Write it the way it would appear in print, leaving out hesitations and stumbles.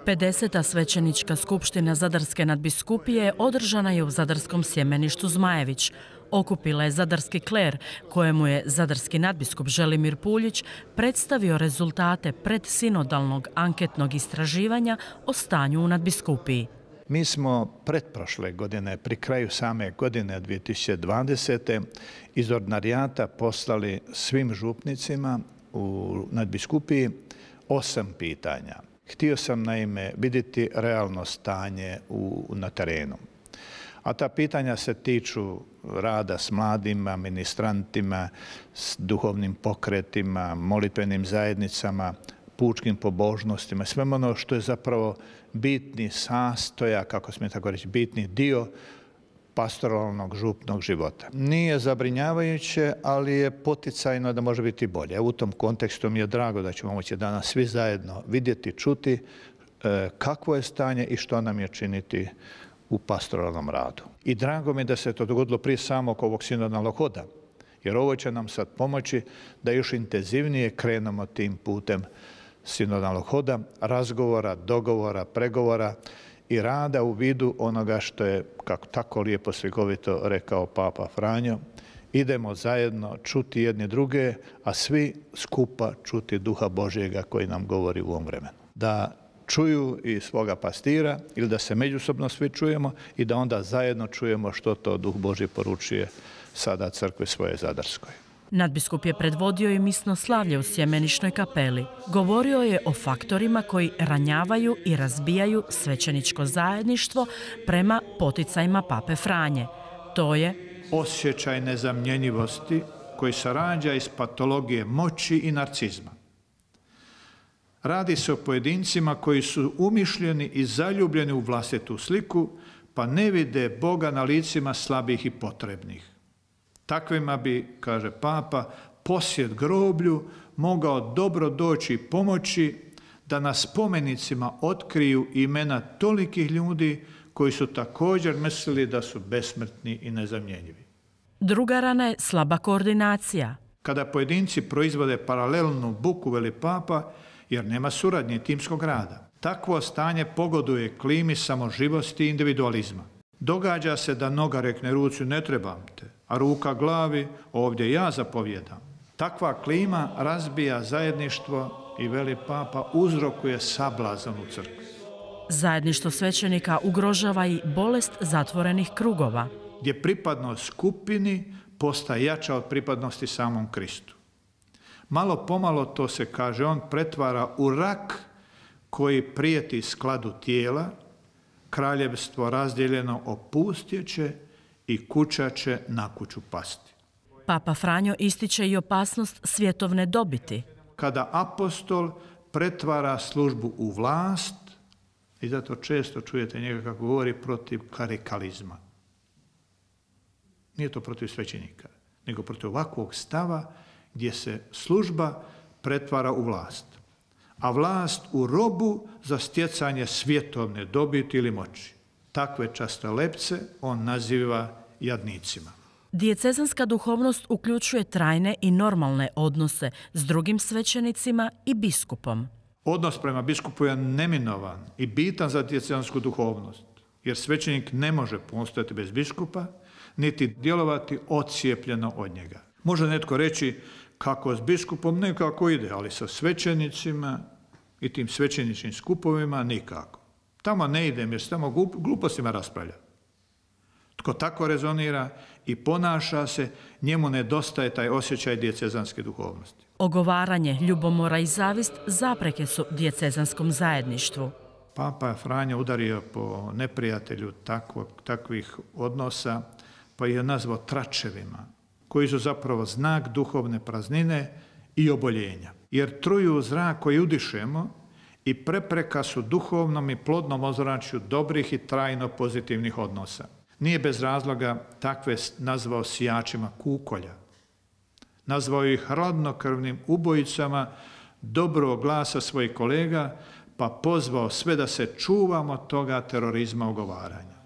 50. svećenička skupština Zadarske nadbiskupije održana je u zadarskom sjemeništu Zmajević. Okupila je zadarski kler, kojemu je zadarski nadbiskup Želimir Puljić predstavio rezultate predsinodalnog anketnog istraživanja o stanju u nadbiskupiji. Mi smo pretprošle godine, pri kraju same godine 2020. iz ordinarijata poslali svim župnicima u nadbiskupiji 8 pitanja. Htio sam naime vidjeti realno stanje na terenu. A ta pitanja se tiču rada s mladima, ministrantima, s duhovnim pokretima, molitvenim zajednicama, pučkim pobožnostima, sve ono što je zapravo bitni sastojak, kako smije tako reći, bitni dio pastoralnog župnog života. Nije zabrinjavajuće, ali je poticajno da može biti bolje. U tom kontekstu mi je drago da ćemo moći danas svi zajedno vidjeti, čuti kakvo je stanje i što nam je činiti u pastoralnom radu. I drago mi je da se to dogodilo prije samog ovog sinodalnog hoda, jer ovo će nam sad pomoći da još intenzivnije krenemo tim putem sinodalnog hoda, razgovora, dogovora, pregovora i rada u vidu onoga što je, kako tako lijepo slikovito rekao Papa Franjo, idemo zajedno čuti jedni druge, a svi skupa čuti Duha Božjega koji nam govori u ovom vremenu. Da čuju i svoga pastira ili da se međusobno svi čujemo i da onda zajedno čujemo što to Duh Božji poručuje sada crkvi svoje Zadarskoj. Nadbiskup je predvodio i misno slavlje u Sjemenišnoj kapeli. Govorio je o faktorima koji ranjavaju i razbijaju svećeničko zajedništvo prema poticajima Pape Franje. To je osjećaj nezamjenjivosti koji se rađa iz patologije moći i narcizma. Radi se o pojedincima koji su umišljeni i zaljubljeni u vlastitu sliku, pa ne vide Boga na licima slabih i potrebnih. Takvima bi, kaže Papa, posjet groblju mogao dobro doći i pomoći da na spomenicima otkriju imena tolikih ljudi koji su također mislili da su besmrtni i nezamjenjivi. Druga rana je slaba koordinacija. Kada pojedinci proizvode paralelnu buku, veli Papa, jer nema suradnje timskog rada. Takvo stanje pogoduje klimi samoživosti i individualizma. Događa se da noga rekne ruci ne trebam te, a ruka glavi ovdje ja zapovjedam. Takva klima razbija zajedništvo i, veli Papa, uzrokuje sablazan u crkvi. Zajedništvo svećenika ugrožava i bolest zatvorenih krugova, gdje pripadnost skupini postaje jača od pripadnosti samom Kristu. Malo pomalo, to se kaže, on pretvara u rak koji prijeti skladu tijela, kraljevstvo razdijeljeno opustjeće i kuća će na kuću pasti. Papa Franjo ističe i opasnost svjetovne dobiti. Kada apostol pretvara službu u vlast, i zato često čujete njega kako govori protiv klerikalizma. Nije to protiv svećenika, nego protiv ovakvog stava gdje se služba pretvara u vlast, a vlast u robu za stjecanje svjetovne dobiti ili moći. Takve častolepce on naziva jadnicima. Dijecezanska duhovnost uključuje trajne i normalne odnose s drugim svećenicima i biskupom. Odnos prema biskupu je neminovan i bitan za diecezansku duhovnost, jer svećenik ne može postojati bez biskupa, niti djelovati odcijepljeno od njega. Može netko reći kako s biskupom nekako ide, ali sa svećenicima i tim svećeničnim skupovima nikako. Tamo ne idem jer se tamo glupostima raspravlja. Tko tako rezonira i ponaša se, njemu nedostaje taj osjećaj dijecezanske duhovnosti. Ogovaranje, ljubomora i zavist zapreke su diecezanskom zajedništvu. Papa Franjo udario po neprijatelju takvih odnosa, pa je nazvao tračevima, koji su zapravo znak duhovne praznine i oboljenja. Jer truju zrak koji udišemo i prepreka su duhovnom i plodnom ozračju dobrih i trajno pozitivnih odnosa. Nije bez razloga takve nazvao sijačima kukolja. Nazvao ih hladnokrvnim ubojicama dobrog glasa svojih kolega, pa pozvao sve da se čuvamo toga terorizma ogovaranja.